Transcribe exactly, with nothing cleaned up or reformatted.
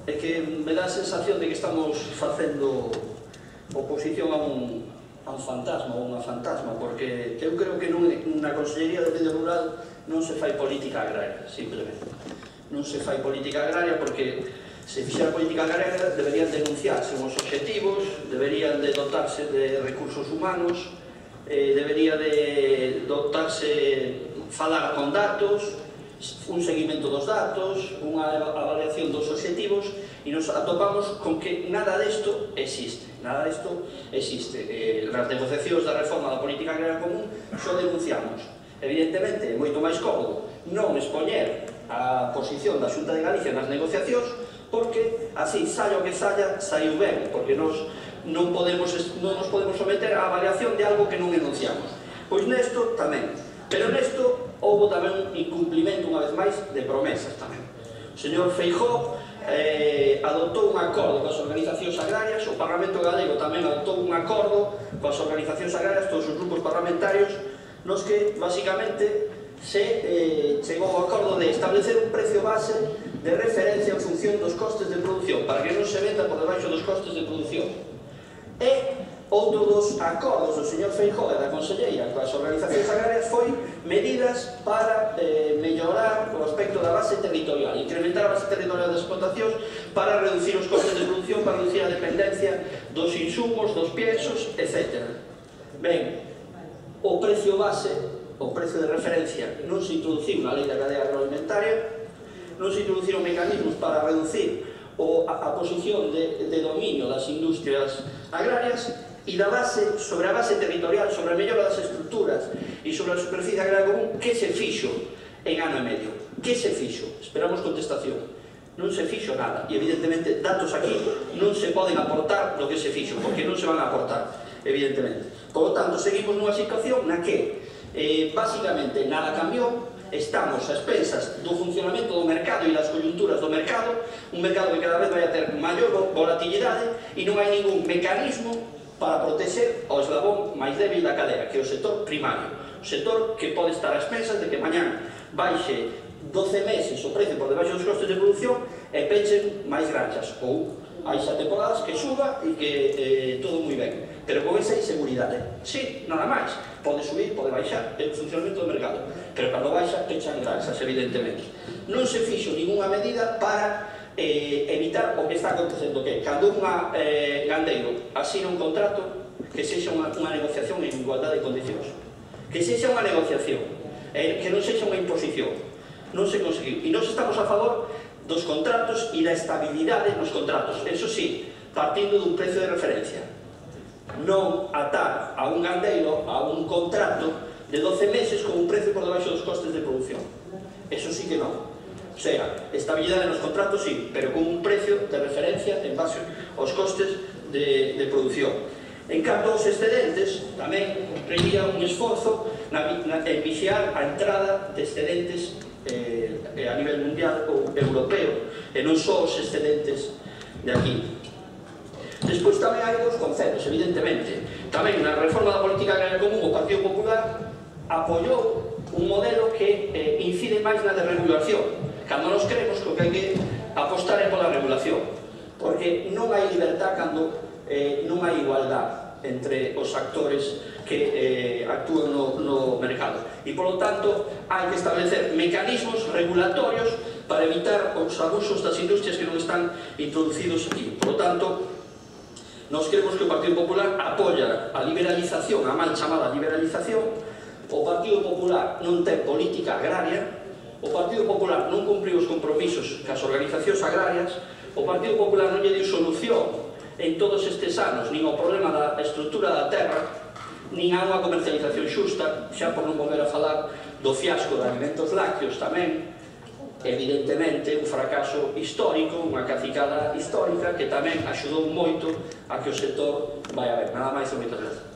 é que me dá a sensación de que estamos facendo oposición a un, a un fantasma ou unha fantasma, porque eu creo que non, na Consellería de Medio Rural non se fai política agraria, simplemente. Non se fai política agraria porque se fixera política agraria deberían denunciarse uns obxectivos, deberían de dotarse de recursos humanos, eh, debería de dotarse, falar con datos, un seguimento dos datos, unha avaliación dos obxectivos, e nos atopamos con que nada desto existe. Nada desto existe. Eh, nas negociacións da reforma da política agraria común xo denunciamos. Evidentemente, é moito máis cómodo non expoñer a posición da Xunta de Galicia nas negociacións, porque así, saia o que saia, saiu ben, porque nos non, podemos, non nos podemos someter á avaliación de algo que non enunciamos. Pois nesto tamén. Pero nesto houve tamén un incumplimento, unha vez máis, de promesas tamén. O señor Feijóo eh, adoptou un acordo coas organizacións agrarias, o Parlamento Galego tamén adoptou un acordo coas organizacións agrarias, todos os grupos parlamentarios, nos que, basicamente, se eh, chegou ao acordo de establecer un precio base de referencia en función dos costes de produción, para que non se venda por debaixo dos costes de produción. E outro dos acordos do señor Feijóo e da Conselleira coas organizacións agrarias foi medidas para eh, mellorar o aspecto da base territorial, incrementar a base territorial das explotacións para reducir os costes de produción, para reducir a dependencia dos insumos, dos piensos, etcétera. Ben, o precio base, o precio de referencia, non se introduciu na lei da cadea agroalimentaria, non se introduciron mecanismos para reducir o, a, a posición de, de dominio das industrias agrarias, e da base, sobre a base territorial, sobre a mellora das estructuras e sobre a superficie agraria común, que se fixo en ano e medio? Que se fixo? Esperamos contestación. Non se fixo nada, e evidentemente datos aquí non se poden aportar do que se fixo, porque non se van a aportar, evidentemente. Por lo tanto, seguimos nunha situación na que eh, basicamente nada cambiou. Estamos a expensas do funcionamento do mercado e das coyunturas do mercado, un mercado que cada vez vai a ter maior volatilidade, e non hai ningún mecanismo para proteger o eslabón máis débil da cadea, que é o sector primario, o sector que pode estar a expensas de que mañán baixe doce meses o precio por debaixo dos costes de produción e pechen máis granxas, ou haixa temporadas que suba e que eh, todo moi ben, pero con esa inseguridade. Sí, nada máis, pode subir, pode baixar, é o funcionamento do mercado, pero cando baixa, pechan granxas, evidentemente. Non se fixo ninguna medida para eh, evitar o que está acontecendo, que cando un eh, gandeiro asina un contrato, que sexa unha, unha negociación en igualdade de condicións, que sexa unha negociación, eh, que non sexa unha imposición. Non se conseguiu, e nós estamos a favor dos contratos e da estabilidade nos contratos, eso sí, partindo dun precio de referencia, non atar a un gandeiro a un contrato de doce meses con un precio por debaixo dos costes de produción. Eso sí que non. O sea, estabilidade nos contratos sí, pero con un precio de referencia en base aos costes de, de produción. En canto aos excedentes, tamén requería un esforzo na, na, en vixiar a entrada de excedentes eh, a nivel mundial ou europeo, e non só os excedentes de aquí. Despois tamén hai dos conceptos, evidentemente. Tamén na reforma da política agraria común o Partido Popular apoiou un modelo que eh, incide máis na desregulación, cando nos creemos que o que hai que apostar é pola regulación, porque non hai libertad cando eh, non hai igualdad entre os actores que eh, actúan no, no mercado, e polo tanto hai que establecer mecanismos regulatorios para evitar os abusos das industrias que non están introducidos aquí. Por lo tanto, nos creemos que o Partido Popular apoia a liberalización, a mal chamada liberalización. O Partido Popular non ten política agraria, o Partido Popular non cumpriu os compromisos cas organizacións agrarias, o Partido Popular non lle deu solución en todos estes anos nin ao problema da estrutura da terra, nin a unha comercialización xusta, xa por non volver a falar do fiasco de alimentos lácteos tamén, evidentemente un fracaso histórico, unha cacicada histórica que tamén axudou moito a que o sector vai a ver. Nada máis e moitas grazas.